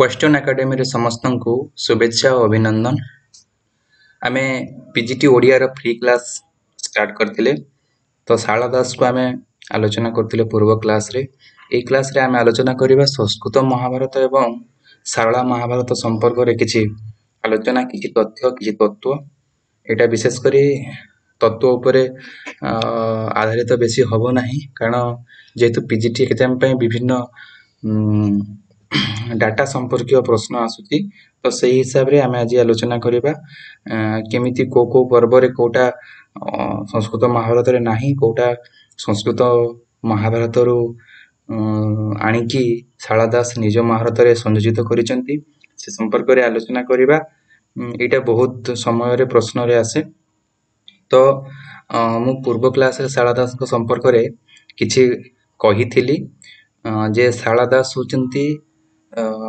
Western ଏକାଡେମୀରେ ସମସ୍ତଙ୍କୁ ଶୁଭେଚ୍ଛା ଓ ଅଭିନନ୍ଦନ। ଆମେ ପିଜିଟି ଓଡ଼ିଆର ଫ୍ରି କ୍ଲାସ୍ ଷ୍ଟାର୍ଟ କରିଥିଲେ। ତ ଶାରଳା ଦାସକୁ ଆମେ ଆଲୋଚନା କରୁଥିଲେ ପୂର୍ବ କ୍ଲାସ୍ରେ। ଏଇ କ୍ଲାସ୍ରେ ଆମେ ଆଲୋଚନା କରିବା ସଂସ୍କୃତ ମହାଭାରତ ଏବଂ ଶାରଳା ମହାଭାରତ ସମ୍ପର୍କରେ କିଛି ଆଲୋଚନା, କିଛି ତଥ୍ୟ, କିଛି ତତ୍ତ୍ୱ। ଏଇଟା ବିଶେଷ କରି ତତ୍ତ୍ୱ ଉପରେ ଆଧାରିତ ବେଶୀ ହେବ ନାହିଁ, କାରଣ ଯେହେତୁ ପିଜିଟି ଏକ୍ଜାମ୍ ପାଇଁ ବିଭିନ୍ନ ଡାଟା ସମ୍ପର୍କୀୟ ପ୍ରଶ୍ନ ଆସୁଛି, ତ ସେଇ ହିସାବରେ ଆମେ ଆଜି ଆଲୋଚନା କରିବା କେମିତି କେଉଁ କେଉଁ ପର୍ବରେ କେଉଁଟା ସଂସ୍କୃତ ମହାଭାରତରେ ନାହିଁ, କେଉଁଟା ସଂସ୍କୃତ ମହାଭାରତରୁ ଆଣିକି ଶାରଳା ଦାସ ନିଜ ମହାଭାରତରେ ସଂଯୋଜିତ କରିଛନ୍ତି, ସେ ସମ୍ପର୍କରେ ଆଲୋଚନା କରିବା। ଏଇଟା ବହୁତ ସମୟରେ ପ୍ରଶ୍ନରେ ଆସେ। ତ ମୁଁ ପୂର୍ବ କ୍ଲାସ୍ରେ ଶାରଳା ଦାସଙ୍କ ସମ୍ପର୍କରେ କିଛି କହିଥିଲି ଯେ ଶାରଳା ଦାସ ହେଉଛନ୍ତି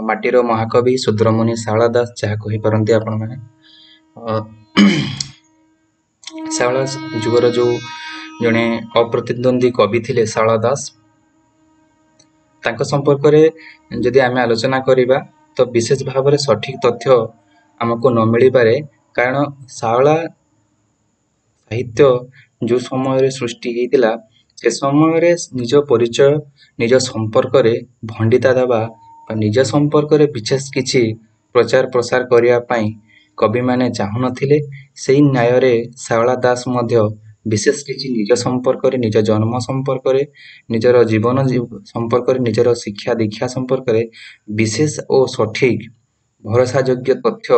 ମାଟିର ମହାକବି ଶୂଦ୍ରମୁନି ଶାରଳା ଦାସ, ଯାହା କହିପାରନ୍ତି ଆପଣମାନେ। ଶାରଳା ଯୁଗର ଯେଉଁ ଜଣେ ଅପ୍ରତିଦ୍ୱନ୍ଦ୍ୱୀ କବି ଥିଲେ ଶାରଳା ଦାସ, ତାଙ୍କ ସମ୍ପର୍କରେ ଯଦି ଆମେ ଆଲୋଚନା କରିବା ତ ବିଶେଷ ଭାବରେ ସଠିକ ତଥ୍ୟ ଆମକୁ ନ ମିଳିପାରେ, କାରଣ ଶାରଳା ସାହିତ୍ୟ ଯେଉଁ ସମୟରେ ସୃଷ୍ଟି ହେଇଥିଲା ସେ ସମୟରେ ନିଜ ପରିଚୟ, ନିଜ ସମ୍ପର୍କରେ ଭଣ୍ଡିତା ଦେବା ବା ନିଜ ସମ୍ପର୍କରେ ବିଶେଷ କିଛି ପ୍ରଚାର ପ୍ରସାର କରିବା ପାଇଁ କବିମାନେ ଚାହୁଁନଥିଲେ। ସେଇ ନ୍ୟାୟରେ ଶାରଳା ଦାସ ମଧ୍ୟ ବିଶେଷ କିଛି ନିଜ ସମ୍ପର୍କରେ, ନିଜ ଜନ୍ମ ସମ୍ପର୍କରେ, ନିଜର ଜୀବନ ସମ୍ପର୍କରେ, ନିଜର ଶିକ୍ଷା ଦୀକ୍ଷା ସମ୍ପର୍କରେ ବିଶେଷ ଓ ସଠିକ ଭରସାଯୋଗ୍ୟ ତଥ୍ୟ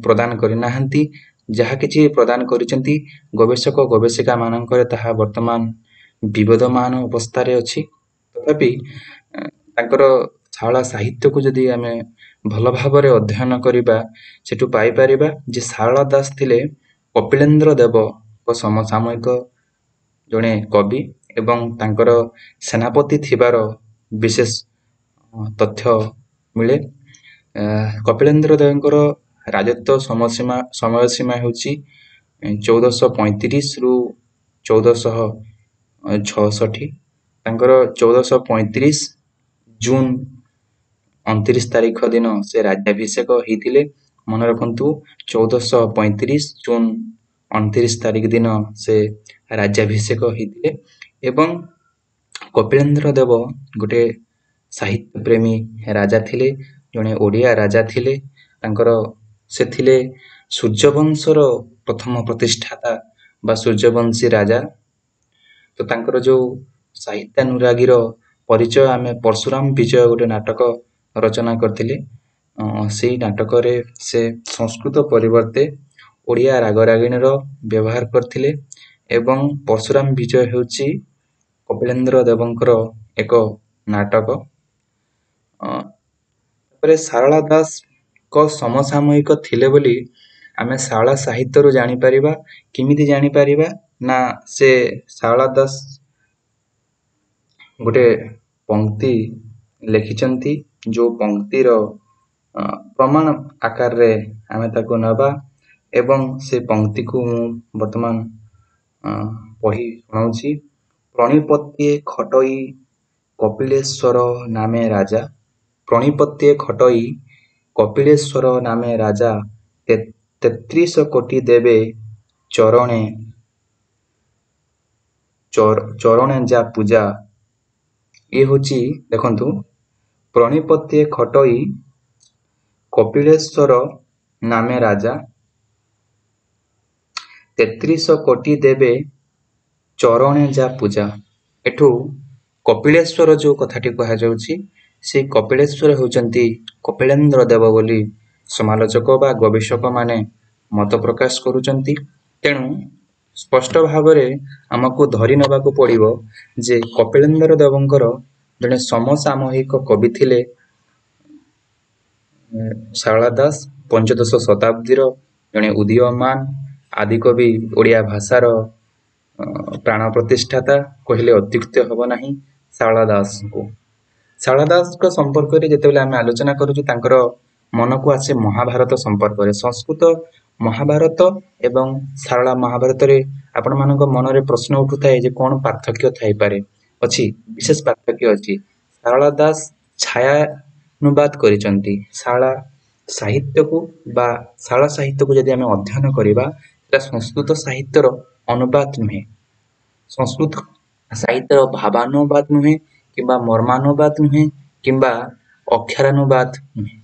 ପ୍ରଦାନ କରିନାହାନ୍ତି। ଯାହା କିଛି ପ୍ରଦାନ କରିଛନ୍ତି ଗବେଷକ ଗବେଷିକା ମାନଙ୍କରେ ତାହା ବର୍ତ୍ତମାନ ବିବଦମାନ ଅବସ୍ଥାରେ ଅଛି। ତଥାପି ତାଙ୍କର ଶାରଳା ସାହିତ୍ୟକୁ ଯଦି ଆମେ ଭଲ ଭାବରେ ଅଧ୍ୟୟନ କରିବା, ସେଠୁ ପାଇପାରିବା ଯେ ଶାରଳା ଦାସ ଥିଲେ କପିଳେନ୍ଦ୍ର ଦେବଙ୍କ ସମସାମୟିକ ଜଣେ କବି ଏବଂ ତାଙ୍କର ସେନାପତି ଥିବାର ବିଶେଷ ତଥ୍ୟ ମିଳେ। କପିଳେନ୍ଦ୍ର ଦେବଙ୍କର ରାଜତ୍ୱ ସମୟ ସୀମା ହେଉଛି 1435ରୁ 1466। ତାଙ୍କର 1435 ଜୁନ୍ 29 ତାରିଖ ଦିନ ସେ ରାଜ୍ୟାଭିଷେକ ହେଇଥିଲେ। ମନେ ରଖନ୍ତୁ, 1435 ଜୁନ୍ 29 ତାରିଖ ଦିନ ସେ ରାଜ୍ୟାଭିଷେକ ହେଇଥିଲେ। ଏବଂ କପିଳେନ୍ଦ୍ର ଦେବ ଗୋଟେ ସାହିତ୍ୟ ପ୍ରେମୀ ରାଜା ଥିଲେ, ଜଣେ ଓଡ଼ିଆ ରାଜା ଥିଲେ। ତାଙ୍କର ସେ ଥିଲେ ସୂର୍ଯ୍ୟବଂଶର ପ୍ରଥମ ପ୍ରତିଷ୍ଠାତା ବା ସୂର୍ଯ୍ୟବଂଶୀ ରାଜା। ତ ତାଙ୍କର ଯେଉଁ ସାହିତ୍ୟାନୁରାଗୀର ପରିଚୟ ଆମେ ପରଶୁରାମ ବିଜୟ ଗୋଟେ ନାଟକ ରଚନା କରିଥିଲେ। ସେଇ ନାଟକରେ ସେ ସଂସ୍କୃତ ପରିବର୍ତ୍ତେ ଓଡ଼ିଆ ରାଗରାଗିଣୀର ବ୍ୟବହାର କରିଥିଲେ ଏବଂ ପରଶୁରାମ ବିଜୟ ହେଉଛି କପିଳେନ୍ଦ୍ର ଦେବଙ୍କର ଏକ ନାଟକ। ତାପରେ ଶାରଳା ଦାସଙ୍କ ସମସାମୟିକ ଥିଲେ ବୋଲି ଆମେ ଶାରଳା ସାହିତ୍ୟରୁ ଜାଣିପାରିବା। କେମିତି ଜାଣିପାରିବା ନା, ସେ ଶାରଳା ଦାସ ଗୋଟେ ପଙ୍କ୍ତି ଲେଖିଛନ୍ତି, ଯେଉଁ ପଙ୍କ୍ତିର ପ୍ରମାଣ ଆକାରରେ ଆମେ ତାକୁ ନେବା ଏବଂ ସେ ପଙ୍କ୍ତିକୁ ମୁଁ ବର୍ତ୍ତମାନ ପଢ଼ି ଶୁଣାଉଛି। ପ୍ରଣିପତ୍ୟେ ଖଟଇ କପିଳେଶ୍ୱର ନାମେ ରାଜା, ପ୍ରଣିପତ୍ୟେ ଖଟଇ କପିଳେଶ୍ୱର ନାମେ ରାଜା, 33 କୋଟି ଦେବେ ଚରଣେ ଚରଣେ ଯା ପୂଜା। ଇଏ ହେଉଛି, ଦେଖନ୍ତୁ, ପ୍ରଣିପତ୍ୟେ ଖଟଇ କପିଳେଶ୍ୱର ନାମେ ରାଜା, 33 କୋଟି ଦେବେ ଚରଣେ ଯା ପୂଜା। ଏଠୁ କପିଳେଶ୍ୱର ଯେଉଁ କଥାଟି କୁହାଯାଉଛି, ସେଇ କପିଳେଶ୍ୱର ହେଉଛନ୍ତି କପିଳେନ୍ଦ୍ର ଦେବ ବୋଲି ସମାଲୋଚକ ବା ଗବେଷକମାନେ ମତ ପ୍ରକାଶ କରୁଛନ୍ତି। ତେଣୁ ସ୍ପଷ୍ଟ ଭାବରେ ଆମକୁ ଧରି ନେବାକୁ ପଡ଼ିବ ଯେ କପିଳେନ୍ଦ୍ର ଦେବଙ୍କର ଜଣେ ସମସାମୟିକ କବି ଥିଲେ ଶାରଳା ଦାସ, ପଞ୍ଚଦଶ ଶତାବ୍ଦୀର ଜଣେ ଉଦୀୟମାନ ଆଦିକବି, ଓଡ଼ିଆ ଭାଷାର ପ୍ରାଣ ପ୍ରତିଷ୍ଠାତା କହିଲେ ଅତ୍ୟୁକ୍ତି ହେବ ନାହିଁ ଶାରଳା ଦାସଙ୍କୁ। ଶାରଳା ଦାସଙ୍କ ସମ୍ପର୍କରେ ଯେତେବେଳେ ଆମେ ଆଲୋଚନା କରୁଛୁ, ତାଙ୍କର ମନକୁ ଆସେ ମହାଭାରତ ସମ୍ପର୍କରେ। ସଂସ୍କୃତ ମହାଭାରତ ଏବଂ ଶାରଳା ମହାଭାରତରେ ଆପଣମାନଙ୍କ ମନରେ ପ୍ରଶ୍ନ ଉଠୁଥାଏ ଯେ କ'ଣ ପାର୍ଥକ୍ୟ ଥାଇପାରେ। ଅଛି, ବିଶେଷ ପାର୍ଥକ୍ୟ ଅଛି। ଶାରଳା ଦାସ ଛାୟା ଭାବାନୁବାଦ କରିଛନ୍ତି। ଶାରଳା ସାହିତ୍ୟକୁ ବା ଶାରଳା ସାହିତ୍ୟକୁ ଯଦି ଆମେ ଅଧ୍ୟୟନ କରିବା, ସେଟା ସଂସ୍କୃତ ସାହିତ୍ୟର ଅନୁବାଦ ନୁହେଁ, ସଂସ୍କୃତ ସାହିତ୍ୟର ଭାବାନୁବାଦ ନୁହେଁ କିମ୍ବା ମର୍ମାନୁବାଦ ନୁହେଁ କିମ୍ବା ଅକ୍ଷରାନୁବାଦ ନୁହେଁ।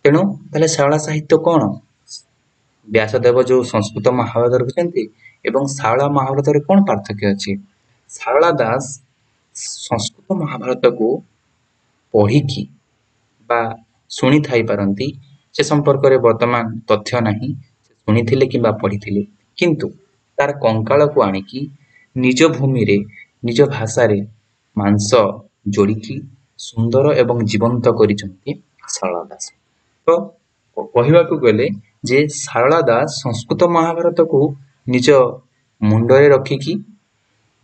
ତେଣୁ ତାହେଲେ ଶାରଳା ସାହିତ୍ୟ କ'ଣ? ବ୍ୟାସଦେବ ଯେଉଁ ସଂସ୍କୃତ ମହାଭାରତ ରଖିଛନ୍ତି ଏବଂ ଶାରଳା ମହାଭାରତରେ କ'ଣ ପାର୍ଥକ୍ୟ ଅଛି? ଶାରଳା ଦାସ ସଂସ୍କୃତ ମହାଭାରତକୁ ପଢ଼ିକି ବା ଶୁଣିଥାଇ ପାରନ୍ତି, ସେ ସମ୍ପର୍କରେ ବର୍ତ୍ତମାନ ତଥ୍ୟ ନାହିଁ, ସେ ଶୁଣିଥିଲେ କିମ୍ବା ପଢ଼ିଥିଲେ, କିନ୍ତୁ ତାର କଙ୍କାଳକୁ ଆଣିକି ନିଜ ଭୂମିରେ ନିଜ ଭାଷାରେ ମାଂସ ଯୋଡ଼ିକି ସୁନ୍ଦର ଏବଂ ଜୀବନ୍ତ କରିଛନ୍ତି ଶାରଳା ଦାସ। ତ କହିବାକୁ ଗଲେ ଯେ ଶାରଳା ଦାସ ସଂସ୍କୃତ ମହାଭାରତକୁ ନିଜ ମୁଣ୍ଡରେ ରଖିକି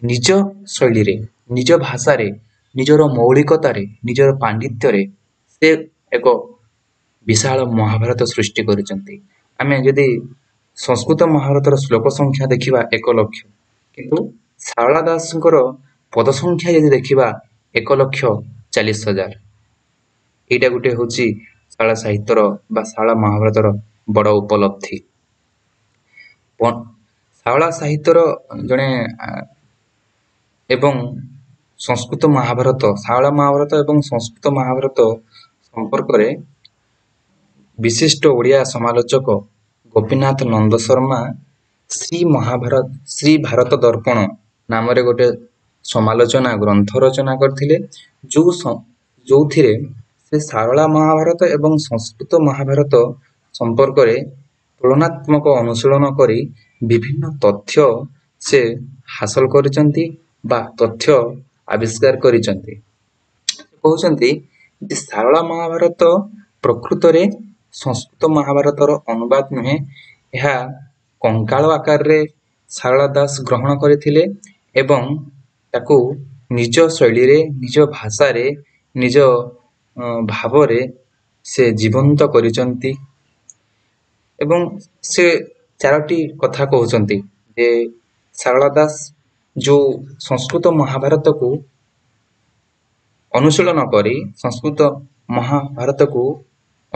ନିଜ ଶୈଳୀରେ, ନିଜ ଭାଷାରେ, ନିଜର ମୌଳିକତାରେ, ନିଜର ପାଣ୍ଡିତ୍ୟରେ ସେ ଏକ ବିଶାଳ ମହାଭାରତ ସୃଷ୍ଟି କରିଛନ୍ତି। ଆମେ ଯଦି ସଂସ୍କୃତ ମହାଭାରତର ଶ୍ଲୋକ ସଂଖ୍ୟା ଦେଖିବା 1 ଲକ୍ଷ, କିନ୍ତୁ ଶାରଳା ଦାସଙ୍କର ପଦ ସଂଖ୍ୟା ଯଦି ଦେଖିବା 1,40,000। ଏଇଟା ଗୋଟେ ହେଉଛି ଶାରଳା ସାହିତ୍ୟର ବା ଶାରଳା ମହାଭାରତର ବଡ଼ ଉପଲବ୍ଧି। ଶାରଳା ସାହିତ୍ୟର ଜଣେ ଏବଂ ସଂସ୍କୃତ ମହାଭାରତ, ଶାରଳା ମହାଭାରତ ଏବଂ ସଂସ୍କୃତ ମହାଭାରତ ସମ୍ପର୍କରେ ବିଶିଷ୍ଟ ଓଡ଼ିଆ ସମାଲୋଚକ ଗୋପୀନାଥ ନନ୍ଦ ଶର୍ମା ଶ୍ରୀ ମହାଭାରତ ଶ୍ରୀ ଭାରତ ଦର୍ପଣ ନାମରେ ଗୋଟେ ସମାଲୋଚନା ଗ୍ରନ୍ଥ ରଚନା କରିଥିଲେ, ଯୋଉଥିରେ ସେ ଶାରଳା ମହାଭାରତ ଏବଂ ସଂସ୍କୃତ ମହାଭାରତ ସମ୍ପର୍କରେ ତୁଳନାତ୍ମକ ଅନୁଶୀଳନ କରି ବିଭିନ୍ନ ତଥ୍ୟ ସେ ହାସଲ କରିଛନ୍ତି ବା ତଥ୍ୟ ଆବିଷ୍କାର କରିଛନ୍ତି। କହୁଛନ୍ତି ଯେ ଶାରଳା ମହାଭାରତ ପ୍ରକୃତରେ ସଂସ୍କୃତ ମହାଭାରତର ଅନୁବାଦ ନୁହେଁ, ଏହା କଙ୍କାଳ ଆକାରରେ ଶାରଳା ଦାସ ଗ୍ରହଣ କରିଥିଲେ ଏବଂ ତାକୁ ନିଜ ଶୈଳୀରେ, ନିଜ ଭାଷାରେ, ନିଜ ଭାବରେ ସେ ଜୀବନ୍ତ କରିଛନ୍ତି। ଏବଂ ସେ 4ଟି କଥା କହୁଛନ୍ତି ଯେ ଶାରଳା ଦାସ ଯେଉଁ ସଂସ୍କୃତ ମହାଭାରତକୁ ଅନୁଶୀଳନ କରି, ସଂସ୍କୃତ ମହାଭାରତକୁ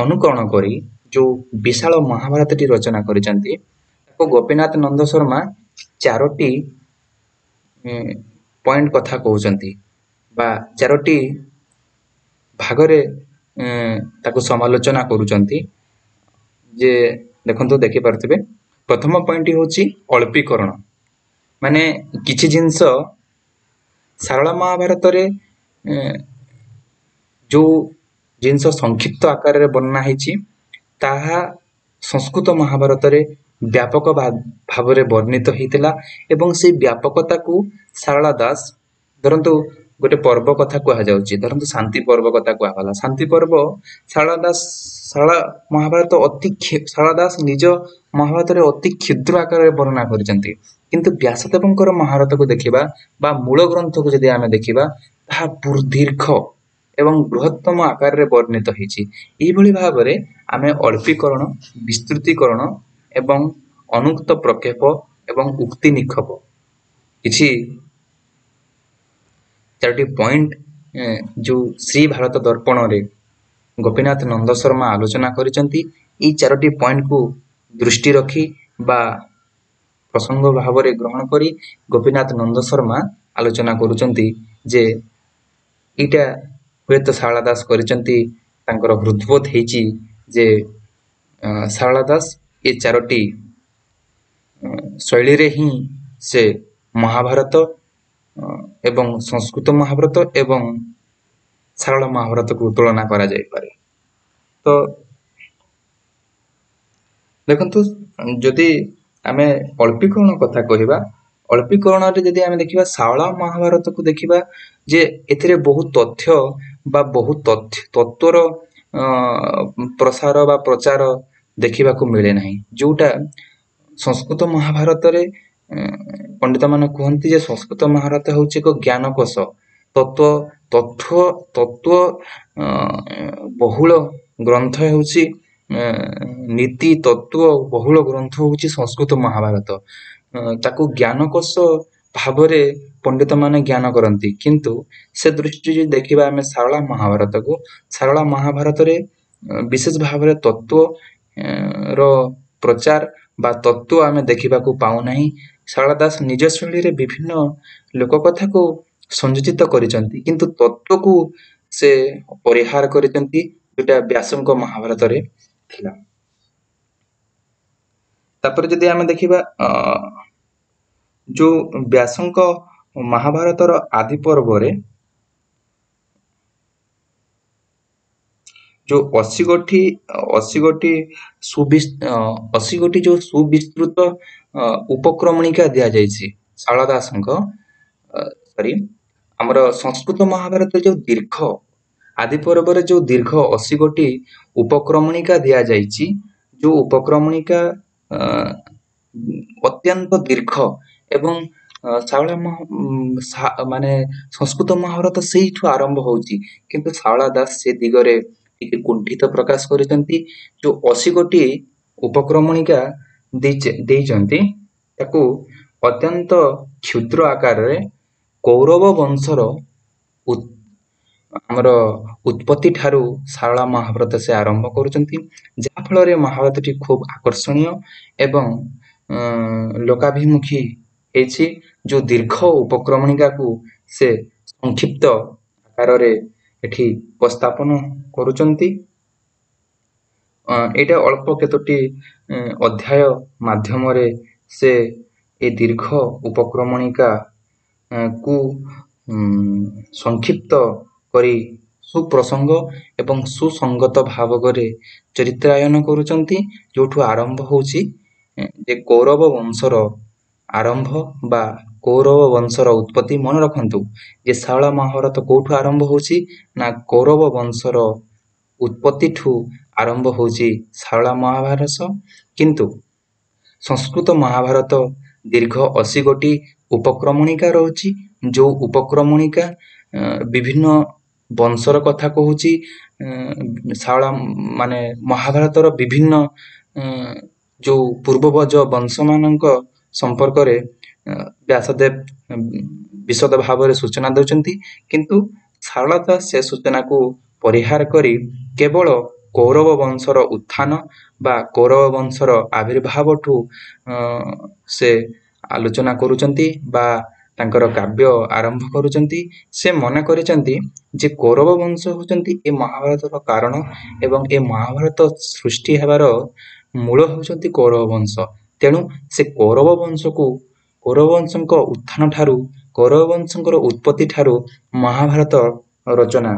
ଅନୁକରଣ କରି ଯେଉଁ ବିଶାଳ ମହାଭାରତଟି ରଚନା କରିଛନ୍ତି, ତାକୁ ଗୋପୀନାଥ ନନ୍ଦ ଶର୍ମା 4ଟି ପଏଣ୍ଟ କଥା କହୁଛନ୍ତି ବା 4ଟି ଭାଗରେ ତାକୁ ସମାଲୋଚନା କରୁଛନ୍ତି। ଯେ ଦେଖନ୍ତୁ, ଦେଖିପାରୁଥିବେ, ପ୍ରଥମ ପଏଣ୍ଟଟି ହେଉଛି ଅଳ୍ପୀକରଣ। ମାନେ କିଛି ଜିନିଷ ଶାରଳା ମହାଭାରତରେ ଯେଉଁ ଜିନିଷ ସଂକ୍ଷିପ୍ତ ଆକାରରେ ବର୍ଣ୍ଣନା ହେଇଛି, ତାହା ସଂସ୍କୃତ ମହାଭାରତରେ ବ୍ୟାପକ ଭାବରେ ବର୍ଣ୍ଣିତ ହେଇଥିଲା ଏବଂ ସେଇ ବ୍ୟାପକତାକୁ ଶାରଳା ଦାସ, ଧରନ୍ତୁ ଗୋଟେ ପର୍ବ କଥା କୁହାଯାଉଛି, ଧରନ୍ତୁ ଶାନ୍ତି ପର୍ବ କଥା କୁହାଗଲା। ଶାନ୍ତି ପର୍ବ ଶାରଳା ଦାସ ଶାରଳା ମହାଭାରତ ଅତି ଶାରଳା ଦାସ ନିଜ ମହାଭାରତରେ ଅତି କ୍ଷୁଦ୍ର ଆକାରରେ ବର୍ଣ୍ଣନା କରିଛନ୍ତି, କିନ୍ତୁ ବ୍ୟାସଦେବଙ୍କର ମହାଭାରତକୁ ଦେଖିବା ବା ମୂଳ ଗ୍ରନ୍ଥକୁ ଯଦି ଆମେ ଦେଖିବା, ତାହା ଦୀର୍ଘ ଏବଂ ବୃହତ୍ତମ ଆକାରରେ ବର୍ଣ୍ଣିତ ହେଇଛି। ଏଇଭଳି ଭାବରେ ଆମେ ଅଳ୍ପୀକରଣ, ବିସ୍ତୃତିକରଣ ଏବଂ ଅନୁକ୍ତ ପ୍ରକ୍ଷେପ ଏବଂ ଉକ୍ତି ନିକ୍ଷେପ କିଛି 4ଟି ପଏଣ୍ଟ ଯେଉଁ ଶ୍ରୀ ଭାରତ ଦର୍ପଣରେ ଗୋପୀନାଥ ନନ୍ଦ ଶର୍ମା ଆଲୋଚନା କରିଛନ୍ତି, ଏଇ 4ଟି ପଏଣ୍ଟକୁ ଦୃଷ୍ଟି ରଖି ବା ପ୍ରସଙ୍ଗ ଭାବରେ ଗ୍ରହଣ କରି ଗୋପୀନାଥ ନନ୍ଦ ଶର୍ମା ଆଲୋଚନା କରୁଛନ୍ତି ଯେ ଏଇଟା ହୁଏତ ଶାରଳା ଦାସ କରିଛନ୍ତି, ତାଙ୍କର ହୃଦବୋଧ ହେଇଛି ଯେ ଶାରଳା ଦାସ ଏ 4ଟି ଶୈଳୀରେ ହିଁ ସେ ମହାଭାରତ ଏବଂ ସଂସ୍କୃତ ମହାଭାରତ ଏବଂ ଶାରଳା ମହାଭାରତକୁ ତୁଳନା କରାଯାଇପାରେ। ତ ଦେଖନ୍ତୁ, ଯଦି ଆମେ ଅଳ୍ପୀକରଣ କଥା କହିବା, ଅଳ୍ପୀକରଣରେ ଯଦି ଆମେ ଦେଖିବା ଶାରଳା ମହାଭାରତକୁ ଦେଖିବା ଯେ ଏଥିରେ ବହୁତ ତଥ୍ୟ ବା ବହୁତ ତତ୍ତ୍ୱର ପ୍ରସାର ବା ପ୍ରଚାର ଦେଖିବାକୁ ମିଳେ ନାହିଁ, ଯୋଉଟା ସଂସ୍କୃତ ମହାଭାରତରେ ପଣ୍ଡିତମାନେ କୁହନ୍ତି ଯେ ସଂସ୍କୃତ ମହାଭାରତ ହେଉଛି ଏକ ଜ୍ଞାନକୋଷ, ତତ୍ତ୍ୱ ବହୁଳ ଗ୍ରନ୍ଥ ହେଉଛି, ନୀତି ତତ୍ତ୍ୱ ବହୁଳ ଗ୍ରନ୍ଥ ହେଉଛି ସଂସ୍କୃତ ମହାଭାରତ। ତାକୁ ଜ୍ଞାନକୋଷ ଭାବରେ ପଣ୍ଡିତମାନେ ଜ୍ଞାନ କରନ୍ତି। କିନ୍ତୁ ସେ ଦୃଷ୍ଟିରୁ ଯଦି ଦେଖିବା ଆମେ ଶାରଳା ମହାଭାରତକୁ, ଶାରଳା ମହାଭାରତରେ ବିଶେଷ ଭାବରେ ତତ୍ତ୍ୱ ର ପ୍ରଚାର ବା ତତ୍ତ୍ୱ ଆମେ ଦେଖିବାକୁ ପାଉନାହିଁ। ଶାରଳା ଦାସ ନିଜ ଶୈଳୀରେ ବିଭିନ୍ନ ଲୋକକଥାକୁ ସଂଯୋଜିତ କରିଛନ୍ତି, କିନ୍ତୁ ତତ୍ତ୍ୱକୁ ସେ ପରିହାର କରିଛନ୍ତି, ଯୋଉଟା ବ୍ୟାସଙ୍କ ମହାଭାରତରେ ଥିଲା। ତାପରେ ଯଦି ଆମେ ଦେଖିବା ଯୋଉ ବ୍ୟାସଙ୍କ ମହାଭାରତର ଆଦି ପର୍ବରେ ଯୋଉ 80 ଗୋଟି ଯୋଉ ସୁବିସ୍ତୃତ ଉପକ୍ରମଣିକା ଦିଆଯାଇଛି ଶାରଳା ଦାସଙ୍କ, ସରି, ଆମର ସଂସ୍କୃତ ମହାଭାରତ ଯୋଉ ଦୀର୍ଘ ଆଦି ପର୍ବରେ ଯୋଉ ଦୀର୍ଘ 80 ଗୋଟି ଉପକ୍ରମଣିକା ଦିଆଯାଇଛି, ଯୋଉ ଉପକ୍ରମଣିକା ଅତ୍ୟନ୍ତ ଦୀର୍ଘ ଏବଂ ଶାରଳା ମାନେ ସଂସ୍କୃତ ମହାଭାରତ ସେଇଠୁ ଆରମ୍ଭ ହଉଛି, କିନ୍ତୁ ଶାରଳା ଦାସ ସେ ଦିଗରେ ଟିକେ କୁଣ୍ଠିତ ପ୍ରକାଶ କରିଛନ୍ତି। ଯୋଉ 80 ଗୋଟି ଉପକ୍ରମଣିକା ଦେଇଛନ୍ତି, ତାକୁ ଅତ୍ୟନ୍ତ କ୍ଷୁଦ୍ର ଆକାରରେ କୌରବ ବଂଶର ଆମର ଉତ୍ପତ୍ତି ଠାରୁ ଶାରଳା ମହାଭାରତ ସେ ଆରମ୍ଭ କରୁଛନ୍ତି, ଯାହାଫଳରେ ମହାଭାରତଟି ଖୁବ ଆକର୍ଷଣୀୟ ଏବଂ ଲୋକାଭିମୁଖୀ ହେଇଛି। ଯୋଉ ଦୀର୍ଘ ଉପକ୍ରମଣିକାକୁ ସେ ସଂକ୍ଷିପ୍ତ ଆକାରରେ ଏଠି ଉପସ୍ଥାପନ କରୁଛନ୍ତି। ଏଇଟା ଅଳ୍ପ କେତୋଟି ଅଧ୍ୟାୟ ମାଧ୍ୟମରେ ସେ ଏ ଦୀର୍ଘ ଉପକ୍ରମଣିକା କୁ ସଂକ୍ଷିପ୍ତ କରି ସୁପ୍ରସଙ୍ଗ ଏବଂ ସୁସଙ୍ଗତ ଭାବରେ ଚରିତ୍ରାୟନ କରୁଛନ୍ତି, ଯୋଉଠୁ ଆରମ୍ଭ ହଉଛି ଯେ କୌରବ ବଂଶର ଆରମ୍ଭ ବା କୌରବ ବଂଶର ଉତ୍ପତ୍ତି। ମନେ ରଖନ୍ତୁ ଯେ ଶାରଳା ମହାଭାରତ କୋଉଠୁ ଆରମ୍ଭ ହଉଛି ନା କୌରବ ବଂଶର ଉତ୍ପତ୍ତିଠୁ ଆରମ୍ଭ ହଉଛି ଶାରଳା ମହାଭାରତ। କିନ୍ତୁ ସଂସ୍କୃତ ମହାଭାରତ ଦୀର୍ଘ 80 ଗୋଟି ଉପକ୍ରମଣିକା ରହୁଛି, ଯୋଉ ଉପକ୍ରମଣିକା ବିଭିନ୍ନ ବଂଶର କଥା କହୁଛି, ଶାରଳା ମାନେ ମହାଭାରତର ବିଭିନ୍ନ ଯୋଉ ପୂର୍ବବଜ ବଂଶମାନଙ୍କ ସମ୍ପର୍କରେ ବ୍ୟାସଦେବ ବିଶଦ ଭାବରେ ସୂଚନା ଦେଉଛନ୍ତି। କିନ୍ତୁ ଶାରଳା ଦାସ ସେ ସୂଚନାକୁ ପରିହାର କରି କେବଳ କୌରବ ବଂଶର ଉତ୍ଥାନ ବା କୌରବ ବଂଶର ଆବିର୍ଭାବଠୁ ସେ ଆଲୋଚନା କରୁଛନ୍ତି ବା ତାଙ୍କର କାବ୍ୟ ଆରମ୍ଭ କରୁଛନ୍ତି। ସେ ମନେ କରିଛନ୍ତି ଯେ କୌରବ ବଂଶ ହେଉଛନ୍ତି ଏ ମହାଭାରତର କାରଣ ଏବଂ ଏ ମହାଭାରତ ସୃଷ୍ଟି ହେବାର ମୂଳ ହେଉଛନ୍ତି କୌରବ ବଂଶ। ତେଣୁ ସେ କୌରବ ବଂଶକୁ, କୌରବ ବଂଶଙ୍କ ଉତ୍ଥାନ ଠାରୁ, କୌରବ ବଂଶଙ୍କର ଉତ୍ପତ୍ତି ଠାରୁ ମହାଭାରତ ରଚନା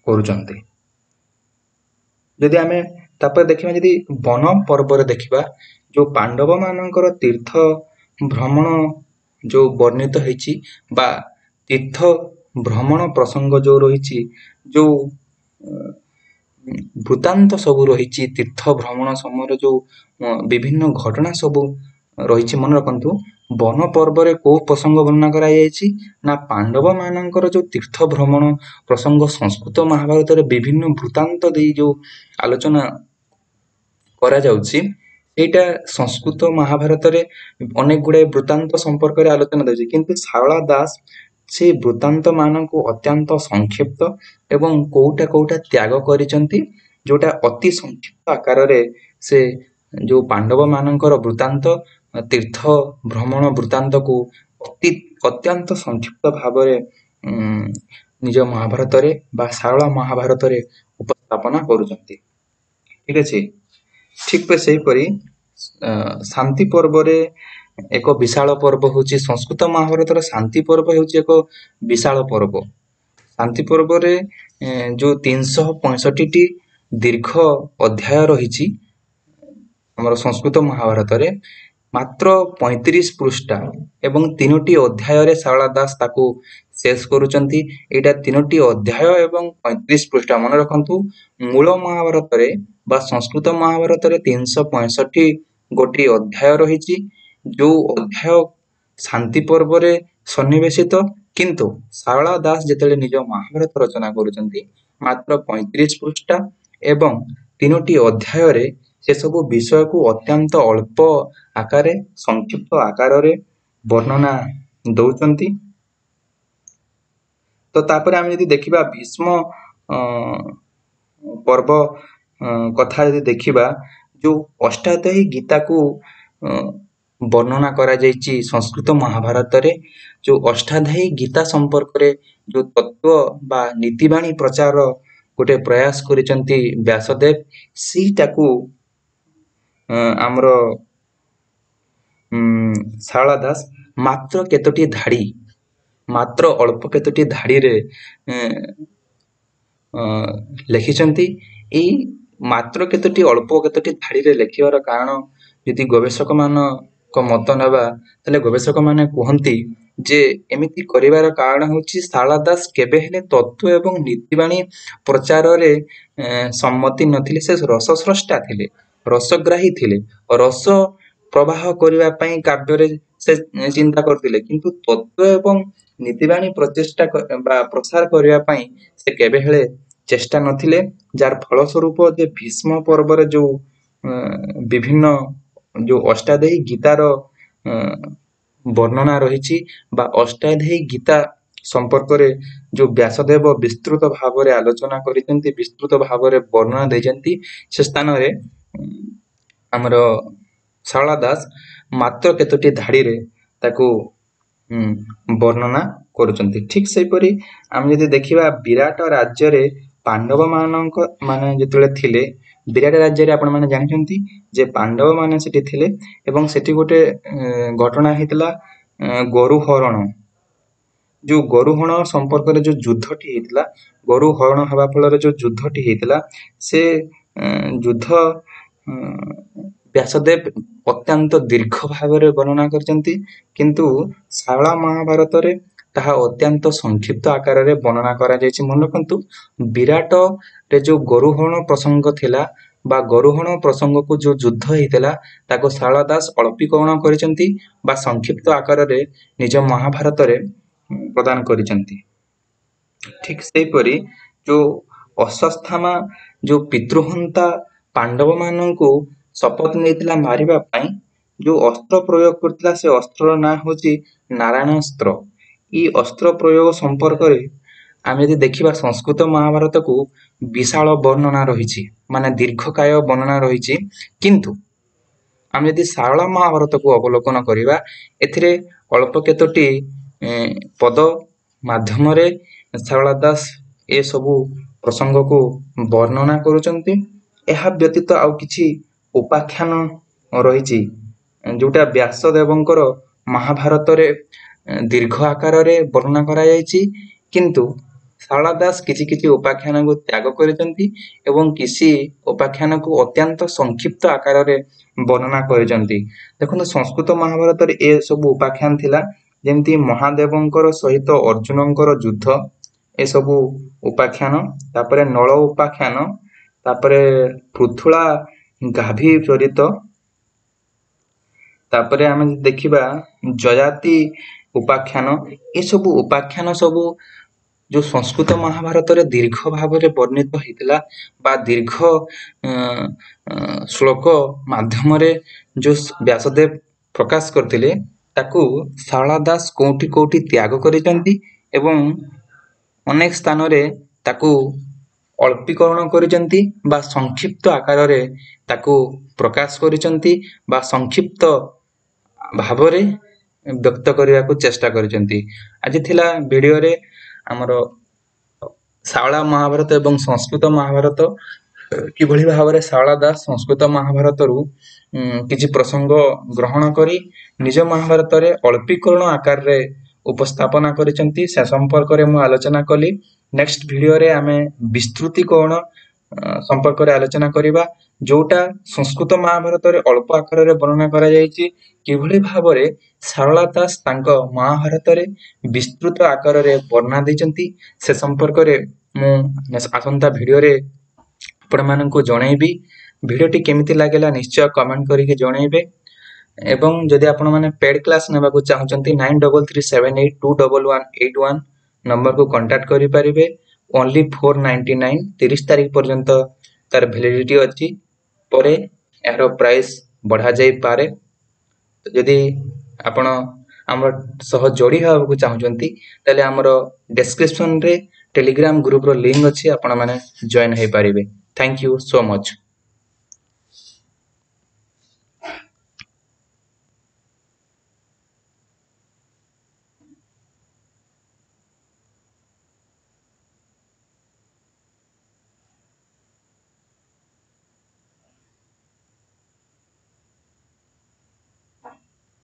କରୁଛନ୍ତି। ଯଦି ଆମେ ତାପରେ ଦେଖିବା, ଯଦି ବନ ପର୍ବରେ ଦେଖିବା, ଯୋଉ ପାଣ୍ଡବ ମାନଙ୍କର ତୀର୍ଥ ଭ୍ରମଣ ଯୋଉ ବର୍ଣ୍ଣିତ ହେଇଛି ବା ତୀର୍ଥ ଭ୍ରମଣ ପ୍ରସଙ୍ଗ ଯୋଉ ରହିଛି, ଯୋଉ ବୃତ୍ତାନ୍ତ ସବୁ ରହିଛି, ତୀର୍ଥ ଭ୍ରମଣ ସମୟରେ ଯୋଉ ବିଭିନ୍ନ ଘଟଣା ସବୁ ରହିଛି, ମନେ ରଖନ୍ତୁ, ବନ ପର୍ବରେ କୋଉ ପ୍ରସଙ୍ଗ ବର୍ଣ୍ଣନା କରାଯାଇଛି ନା ପାଣ୍ଡବ ମାନଙ୍କର ଯୋଉ ତୀର୍ଥ ଭ୍ରମଣ ପ୍ରସଙ୍ଗ ସଂସ୍କୃତ ମହାଭାରତରେ ବିଭିନ୍ନ ବୃତ୍ତାନ୍ତ ଦେଇ ଯୋଉ ଆଲୋଚନା କରାଯାଉଛି, ସେଇଟା ସଂସ୍କୃତ ମହାଭାରତରେ ଅନେକ ଗୁଡାଏ ବୃତ୍ତାନ୍ତ ସମ୍ପର୍କରେ ଆଲୋଚନା ଦେଉଛି। କିନ୍ତୁ ଶାରଳା ଦାସ ସେ ବୃତ୍ତାନ୍ତ ମାନଙ୍କୁ ଅତ୍ୟନ୍ତ ସଂକ୍ଷିପ୍ତ ଏବଂ କୋଉଟା କୋଉଟା ତ୍ୟାଗ କରିଛନ୍ତି, ଯୋଉଟା ଅତି ସଂକ୍ଷିପ୍ତ ଆକାରରେ ସେ ଯୋଉ ପାଣ୍ଡବ ମାନଙ୍କର ବୃତ୍ତାନ୍ତ, ତୀର୍ଥ ଭ୍ରମଣ ବୃତ୍ତାନ୍ତକୁ ଅତ୍ୟନ୍ତ ସଂକ୍ଷିପ୍ତ ଭାବରେ ନିଜ ମହାଭାରତରେ ବା ଶାରଳା ମହାଭାରତରେ ଉପସ୍ଥାପନା କରୁଛନ୍ତି। ଠିକ ଅଛି। ଠିକ ସେହିପରି ଶାନ୍ତି ପର୍ବରେ ଏକ ବିଶାଳ ପର୍ବ ହେଉଛି, ସଂସ୍କୃତ ମହାଭାରତର ଶାନ୍ତି ପର୍ବ ହେଉଛି ଏକ ବିଶାଳ ପର୍ବ। ଶାନ୍ତି ପର୍ବରେ ଯୋଉ 365ଟି ଦୀର୍ଘ ଅଧ୍ୟାୟ ରହିଛି, ଆମର ସଂସ୍କୃତ ମହାଭାରତରେ ମାତ୍ର 35 ପୃଷ୍ଠା ଏବଂ ତିନୋଟି ଅଧ୍ୟାୟରେ ଶାରଳା ଦାସ ତାକୁ ଶେଷ କରୁଛନ୍ତି। ଏଇଟା ତିନୋଟି ଅଧ୍ୟାୟ ଏବଂ 35 ପୃଷ୍ଠା। ମନେ ରଖନ୍ତୁ, ମୂଳ ମହାଭାରତରେ ବା ସଂସ୍କୃତ ମହାଭାରତରେ 365 ଗୋଟି ଅଧ୍ୟାୟ ରହିଛି, ଯୋଉ ଅଧ୍ୟାୟ ଶାନ୍ତି ପର୍ବରେ ସନ୍ନିବେଶିତ। କିନ୍ତୁ ଶାରଳା ଦାସ ଯେତେବେଳେ ନିଜ ମହାଭାରତ ରଚନା କରୁଛନ୍ତି, ମାତ୍ର 35 ପୃଷ୍ଠା ଏବଂ ତିନୋଟି ଅଧ୍ୟାୟରେ ସେସବୁ ବିଷୟକୁ ଅତ୍ୟନ୍ତ ଅଳ୍ପ ଆକାରରେ, ସଂକ୍ଷିପ୍ତ ଆକାରରେ ବର୍ଣ୍ଣନା ଦଉଛନ୍ତି। ତ ତାପରେ ଆମେ ଯଦି ଦେଖିବା ଭୀଷ୍ମ ପର୍ବ କଥା ଯଦି ଦେଖିବା, ଯୋଉ ଅଷ୍ଟାଧ୍ୟାୟୀ ଗୀତାକୁ ବର୍ଣ୍ଣନା କରାଯାଇଛି ସଂସ୍କୃତ ମହାଭାରତରେ, ଯୋଉ ଅଷ୍ଟାଧ୍ୟାୟୀ ଗୀତା ସମ୍ପର୍କରେ ଯୋଉ ତତ୍ତ୍ୱ ବା ନୀତିବାଣୀ ପ୍ରଚାର ଗୋଟେ ପ୍ରୟାସ କରିଛନ୍ତି ବ୍ୟାସଦେବ, ସେଇଟାକୁ ଆମର ଶାରଳା ଦାସ ମାତ୍ର କେତୋଟି ଧାଡ଼ି, ମାତ୍ର ଅଳ୍ପ କେତୋଟି ଧାଡ଼ିରେ ଲେଖିଛନ୍ତି। ଏଇ ମାତ୍ର କେତୋଟି ଅଳ୍ପ କେତୋଟି ଧାଡ଼ିରେ ଲେଖିବାର କାରଣ ଯଦି ଗବେଷକମାନଙ୍କ ମତ ନେବା, ତାହେଲେ ଗବେଷକମାନେ କୁହନ୍ତି ଯେ ଏମିତି କରିବାର କାରଣ ହେଉଛି ଶାରଳା ଦାସ କେବେ ହେଲେ ତତ୍ତ୍ୱ ଏବଂ ନୀତିବାଣୀ ପ୍ରଚାରରେ ସମ୍ମତି ନଥିଲେ। ସେ ରସସ୍ରଷ୍ଟା ଥିଲେ, ରସଗ୍ରାହୀ ଥିଲେ, ରସ ପ୍ରବାହ କରିବା ପାଇଁ କାବ୍ୟରେ ସେ ଚିନ୍ତା କରୁଥିଲେ, କିନ୍ତୁ ତତ୍ତ୍ୱ ଏବଂ ନୀତିବାଣୀ ପ୍ରଚେଷ୍ଟା ବା ପ୍ରସାର କରିବା ପାଇଁ ସେ କେବେ ହେଲେ ଚେଷ୍ଟା ନଥିଲେ। ଯାହାର ଫଳସ୍ୱରୂପ ଯେ ଭୀଷ୍ମ ପର୍ବରେ ଯୋଉ ବିଭିନ୍ନ ଯୋଉ ଅଷ୍ଟାଧ୍ୟାୟୀ ଗୀତାର ବର୍ଣ୍ଣନା ରହିଛି ବା ଅଷ୍ଟାଧ୍ୟାୟୀ ଗୀତା ସମ୍ପର୍କରେ ଯୋଉ ବ୍ୟାସଦେବ ବିସ୍ତୃତ ଭାବରେ ଆଲୋଚନା କରିଛନ୍ତି, ବିସ୍ତୃତ ଭାବରେ ବର୍ଣ୍ଣନା ଦେଇଛନ୍ତି, ସେ ସ୍ଥାନରେ ଆମର ଶାରଳା ଦାସ ମାତ୍ର କେତୋଟି ଧାଡ଼ିରେ ତାକୁ ବର୍ଣ୍ଣନା କରୁଛନ୍ତି। ଠିକ ସେହିପରି ଆମେ ଯଦି ଦେଖିବା ବିରାଟ ରାଜ୍ୟରେ ପାଣ୍ଡବମାନଙ୍କ ମାନେ ଯେତେବେଳେ ଥିଲେ, ବିରାଟ ରାଜ୍ୟରେ ଆପଣମାନେ ଜାଣିଛନ୍ତି ଯେ ପାଣ୍ଡବମାନେ ସେଠି ଥିଲେ ଏବଂ ସେଠି ଗୋଟେ ଘଟଣା ହେଇଥିଲା ଗୋରୁ ହରଣ। ଯୋଉ ଗୋରୁ ହରଣ ସମ୍ପର୍କରେ ଯୋଉ ଯୁଦ୍ଧଟି ହେଇଥିଲା, ଗୋରୁ ହରଣ ହେବା ଫଳରେ ଯୋଉ ଯୁଦ୍ଧଟି ହେଇଥିଲା, ସେ ଯୁଦ୍ଧ ବ୍ୟାସଦେବ ଅତ୍ୟନ୍ତ ଦୀର୍ଘ ଭାବରେ ବର୍ଣ୍ଣନା କରିଛନ୍ତି, କିନ୍ତୁ ଶାରଳା ମହାଭାରତରେ ତାହା ଅତ୍ୟନ୍ତ ସଂକ୍ଷିପ୍ତ ଆକାରରେ ବର୍ଣ୍ଣନା କରାଯାଇଛି। ମନେ ରଖନ୍ତୁ, ବିରାଟରେ ଯୋଉ ଗୋରୁ ହରଣ ପ୍ରସଙ୍ଗ ଥିଲା ବା ଗୋରୁହରଣ ପ୍ରସଙ୍ଗକୁ ଯୋଉ ଯୁଦ୍ଧ ହେଇଥିଲା, ତାକୁ ଶାରଳା ଦାସ ଅଳ୍ପୀକରଣ କରିଛନ୍ତି ବା ସଂକ୍ଷିପ୍ତ ଆକାରରେ ନିଜ ମହାଭାରତରେ ପ୍ରଦାନ କରିଛନ୍ତି। ଠିକ ସେହିପରି ଯୋଉ ଅଶ୍ୱତ୍ଥାମା ଯୋଉ ପିତୃହନ୍ତା ପାଣ୍ଡବମାନଙ୍କୁ ଶପଥ ନେଇଥିଲା ମାରିବା ପାଇଁ, ଯୋଉ ଅସ୍ତ୍ର ପ୍ରୟୋଗ କରିଥିଲା, ସେ ଅସ୍ତ୍ରର ନାଁ ହେଉଛି ନାରାୟଣାସ୍ତ୍ର। ଏଇ ଅସ୍ତ୍ର ପ୍ରୟୋଗ ସମ୍ପର୍କରେ ଆମେ ଯଦି ଦେଖିବା ସଂସ୍କୃତ ମହାଭାରତକୁ ବିଶାଳ ବର୍ଣ୍ଣନା ରହିଛି, ମାନେ ଦୀର୍ଘକାୟ ବର୍ଣ୍ଣନା ରହିଛି, କିନ୍ତୁ ଆମେ ଯଦି ଶାରଳା ମହାଭାରତକୁ ଅବଲୋକନ କରିବା, ଏଥିରେ ଅଳ୍ପ କେତୋଟି ପଦ ମାଧ୍ୟମରେ ଶାରଳା ଦାସ ଏସବୁ ପ୍ରସଙ୍ଗକୁ ବର୍ଣ୍ଣନା କରୁଛନ୍ତି। ଏହା ବ୍ୟତୀତ ଆଉ କିଛି ଉପାଖ୍ୟାନ ରହିଛି ଯୋଉଟା ବ୍ୟାସଦେବଙ୍କର ମହାଭାରତରେ ଦୀର୍ଘ ଆକାରରେ ବର୍ଣ୍ଣନା କରାଯାଇଛି, କିନ୍ତୁ ଶାରଳା ଦାସ କିଛି କିଛି ଉପାଖ୍ୟାନକୁ ତ୍ୟାଗ କରିଛନ୍ତି ଏବଂ କିଛି ଉପାଖ୍ୟାନକୁ ଅତ୍ୟନ୍ତ ସଂକ୍ଷିପ୍ତ ଆକାରରେ ବର୍ଣ୍ଣନା କରିଛନ୍ତି। ଦେଖନ୍ତୁ, ସଂସ୍କୃତ ମହାଭାରତରେ ଏସବୁ ଉପାଖ୍ୟାନ ଥିଲା, ଯେମିତି ମହାଦେବଙ୍କର ସହିତ ଅର୍ଜୁନଙ୍କର ଯୁଦ୍ଧ, ଏସବୁ ଉପାଖ୍ୟାନ, ତାପରେ ନଳ ଉପାଖ୍ୟାନ, ତାପରେ ପୃଥୁଳା ଗାଭୀ ଚରିତ, ତାପରେ ଆମେ ଦେଖିବା ଯଯାତି ଉପାଖ୍ୟାନ। ଏସବୁ ଉପାଖ୍ୟାନ ସବୁ ଯୋଉ ସଂସ୍କୃତ ମହାଭାରତରେ ଦୀର୍ଘ ଭାବରେ ବର୍ଣ୍ଣିତ ହେଇଥିଲା ବା ଦୀର୍ଘ ଶ୍ଲୋକ ମାଧ୍ୟମରେ ଯୋଉ ବ୍ୟାସଦେବ ପ୍ରକାଶ କରିଥିଲେ, ତାକୁ ଶାରଳା ଦାସ କୋଉଠି କୋଉଠି ତ୍ୟାଗ କରିଛନ୍ତି ଏବଂ ଅନେକ ସ୍ଥାନରେ ତାକୁ ଅଳ୍ପୀକରଣ କରିଛନ୍ତି ବା ସଂକ୍ଷିପ୍ତ ଆକାରରେ ତାକୁ ପ୍ରକାଶ କରିଛନ୍ତି ବା ସଂକ୍ଷିପ୍ତ ଭାବରେ ବ୍ୟକ୍ତ କରିବାକୁ ଚେଷ୍ଟା କରିଛନ୍ତି। ଆଜି ଥିଲା ଭିଡ଼ିଓରେ ଆମର ଶାରଳା ମହାଭାରତ ଏବଂ ସଂସ୍କୃତ ମହାଭାରତ, କିଭଳି ଭାବରେ ଶାରଳା ଦାସ ସଂସ୍କୃତ ମହାଭାରତରୁ କିଛି ପ୍ରସଙ୍ଗ ଗ୍ରହଣ କରି ନିଜ ମହାଭାରତରେ ଅଳ୍ପୀକରଣ ଆକାରରେ ଉପସ୍ଥାପନା କରିଛନ୍ତି, ସେ ସମ୍ପର୍କରେ ମୁଁ ଆଲୋଚନା କଲି। ନେକ୍ସଟ ଭିଡ଼ିଓରେ ଆମେ ବିସ୍ତୃତିକରଣ ସମ୍ପର୍କରେ ଆଲୋଚନା କରିବା, ଯୋଉଟା ସଂସ୍କୃତ ମହାଭାରତରେ ଅଳ୍ପ ଆକାରରେ ବର୍ଣ୍ଣନା କରାଯାଇଛି, କିଭଳି ଭାବରେ ଶାରଳା ଦାସ ତାଙ୍କ ମହାଭାରତରେ ବିସ୍ତୃତ ଆକାରରେ ବର୍ଣ୍ଣନା ଦେଇଛନ୍ତି, ସେ ସମ୍ପର୍କରେ ମୁଁ ଆସନ୍ତା ଭିଡ଼ିଓରେ ଆପଣମାନଙ୍କୁ ଜଣେଇବି। ଭିଡ଼ିଓଟି କେମିତି ଲାଗିଲା ନିଶ୍ଚୟ କମେଣ୍ଟ କରିକି ଜଣେଇବେ, ଏବଂ ଯଦି ଆପଣମାନେ ପେଡ୍ କ୍ଲାସ୍ ନେବାକୁ ଚାହୁଁଛନ୍ତି, 9337821181 ନମ୍ବରକୁ କଣ୍ଟାକ୍ଟ କରିପାରିବେ। ଓନ୍ଲି 499, 30 ତାରିଖ ପର୍ଯ୍ୟନ୍ତ ତାର ଭ୍ୟାଲିଡିଟି ଅଛି, ପରେ ଏହାର ପ୍ରାଇସ୍ ବଢ଼ାଯାଇପାରେ। ଯଦି ଆପଣ ଆମର ସହ ଯୋଡ଼ି ହେବାକୁ ଚାହୁଁଛନ୍ତି, ତାହେଲେ ଆମର ଡେସ୍କ୍ରିପସନରେ ଟେଲିଗ୍ରାମ ଗ୍ରୁପର ଲିଙ୍କ ଅଛି, ଆପଣମାନେ ଜଏନ୍ ହେଇପାରିବେ। Thank you so much.